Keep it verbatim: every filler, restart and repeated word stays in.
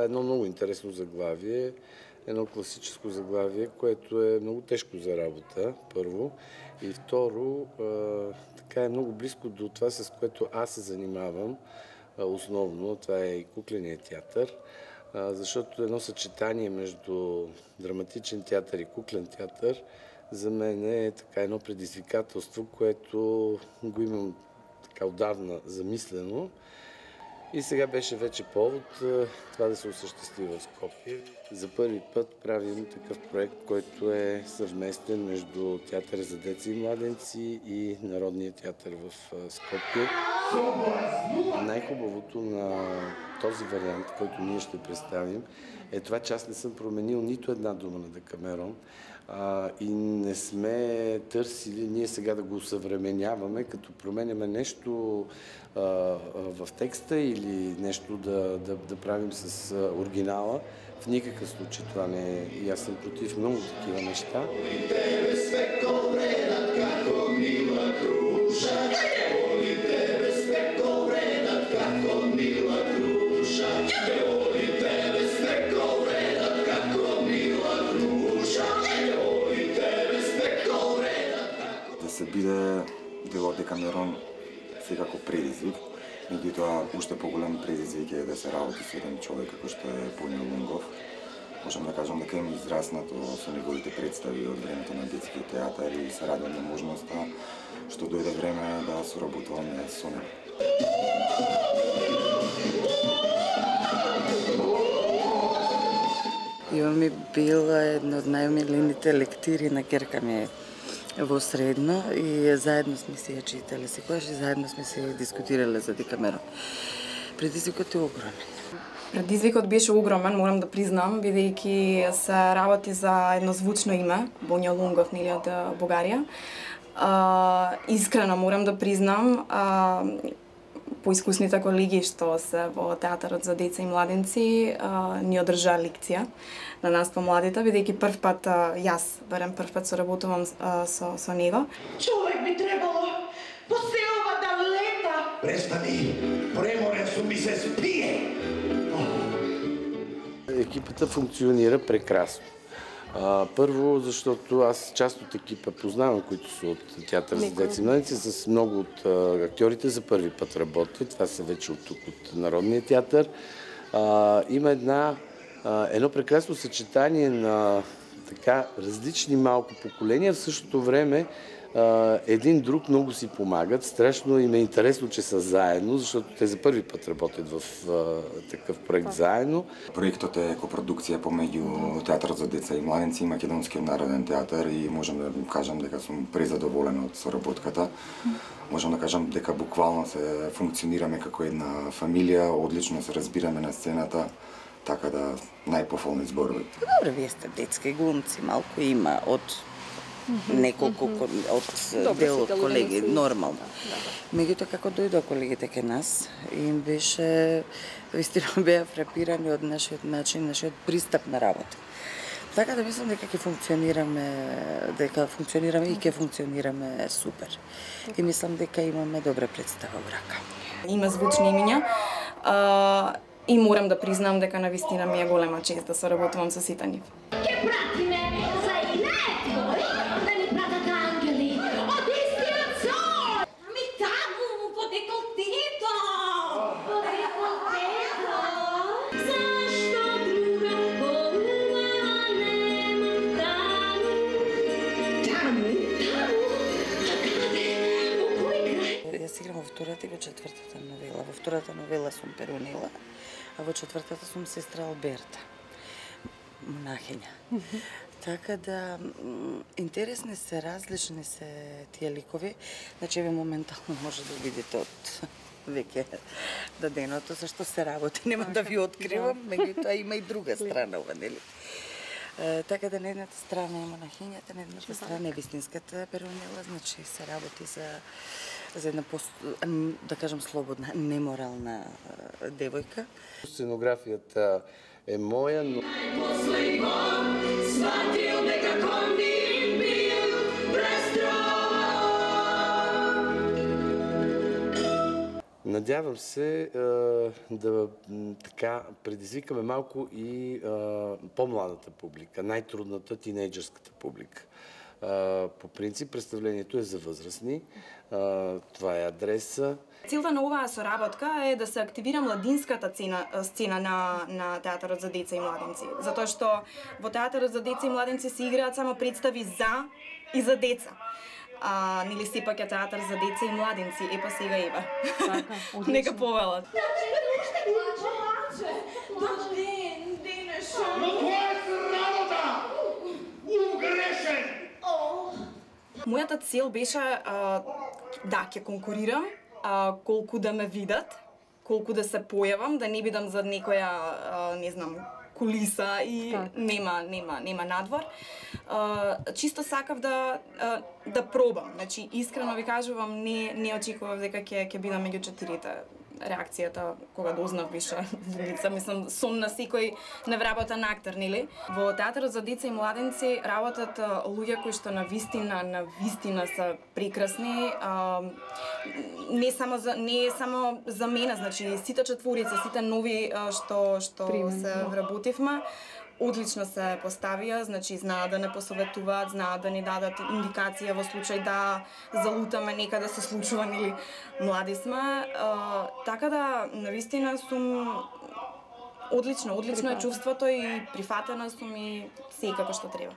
това е едно много интересно заглавие, едно класическо заглавие, което е много тежко за работа, първо. И второ, така е много близко до това, с което аз се занимавам основно. Това е и кукленият театър, защото едно съчетание между драматичен театър и куклен театър за мен е така едно предизвикателство, което го имам така отдавна замислено. И сега беше вече повод това да се осъществи в Скопие. За първи път правим такъв проект, който е съвместен между Театъра за деца и младенци и Народния театър в Скопие. Най-хубавото на този вариант, който ние ще представим, е това, че аз не съм променил нито една дума на Декамерон а, и не сме търсили ние сега да го усъвременяваме, като променяме нещо а, а, в текста или нещо да, да, да правим с а, оригинала. В никакъв случай това не е. И аз съм против много такива неща. Да се биде дел од Декамерон секако предизвик. Меѓутоа, уште поголем предизвик е да се работи со еден човек како што е Боња Лунгов. Можам да кажам дека им израснато со неговите представи од времето на детскиот театар и се радувам на можноста што дојде време да соработуваме со него. Ива ми била една од најомилените лектири на ќерка ми во средно и заедно сме се ја читале секогаш и заедно сме се дискутирале за Декамерон. Предизвикот е огромен. Предизвикот беше огромен, морам да признам, бидејќи се работи за едно звучно име, Боња Лунгов, нели, од Бугарија. А, искрено морам да признам, а, поискусните колеги што се во театарот за деца и младенци а, ни одржаа лекција на нас помладите, бидејќи прв пат а, јас, барем прв пат соработувам а, со, со него. Човек би требало по селова да лета. Престани, преморен сум ми се спие. Екипата функционира прекрасно. А, първо, защото аз част от екипа познавам, които са от театър за деца и младенци, с много от а, актьорите за първи път работят. Това са вече от тук, от Народния театър. А, има една, а, едно прекрасно съчетание на така различни малко поколения. В същото време а, един друг много си помагат. Страшно им е интересно, че са заедно, защото те за първи път работят в а, такъв проект заедно. Проектот е копродукција помеѓу Театарот за деца и младенци и Македонскиот народен театар и можам да кажам дека сум презадоволен од соработката. Можам да кажам дека буквално се функционираме како една фамилија, одлично се разбираме на сцената, така да најпофолни зборови. Добре, вие сте детски глумци, малку има од неколку од дел од колеги, нормално. Меѓутоа, како дојдоа колегите кај нас, им беше, вистина беа фрапирани од нашиот начин, нашиот пристап на работа. Така да мислам дека ќе функционираме, дека функционираме и ќе функционираме супер. И мислам дека имаме добра представа во рака. Има звучни имиња, а, и морам да признам дека навистина ми е голема чест да соработувам со сите нив. Ке пратиме за илето, да ни пратат ангели од истиот сон. Ами таму, по деколтето. По деколтето. Зашто друга поума нема таму? Таму? Таму? А каде? Во кој крај? Јас играм во втората и во четвртата новела. Во втората новела сум Перунила, а во четвртата сум сестра Алберта, монахиња. Така да, интересни се, различни се тие ликови. Значи, ве моментално може да видите од веќе даденото, зашто се работи, нема да ви откривам, меѓутоа има и друга страна ова, нели? Така да на едната страна е монахињата, на едната страна е вистинската Перунила, значи се работи за за една, да кажем, слободна, неморална девојка. Сценографията е моя, но... Надявам се да така предизвикаме малко и по-младата публика, най-трудната тинейджърската публика. По принцип представлението е за възрастни, това е адреса. Целта на оваа соработка е да се активира младинската сцена, сцена на, на театарот за деца и младенци. Затоа што во театарот за деца и младенци се играат само представи за и за деца. А, нели сепак е театар за деца и младенци, епа сега ева. Така, одлично. Нека повелат. Но тоа е срамота! Угрешен! Мојата цел беше а, да ќе конкурирам, а, колку да ме видат, колку да се појавам, да не бидам за некоја, а, не знам, кулиса и так. нема нема нема надвор. А, чисто сакав да а, да пробам. Значи искрено ви кажувам, не не очекував дека ќе ќе бидам меѓу четирите. Реакцијата кога дознав беше лица, мислам сон на секој невработен актер, нели? Во театарот за деца и младенци работат луѓе кои што на вистина, на вистина се прекрасни. А, не само за не е само за мене, значи сите четворици, сите нови а, што што Примерно. се вработивме, одлично се поставија, значи знаат да не посоветуваат, знаат да ни дадат индикација во случај да залутаме некаде се случува, нели млади сме. А, така да, навистина сум одлично, одлично е чувството и прифатена сум и секако што треба.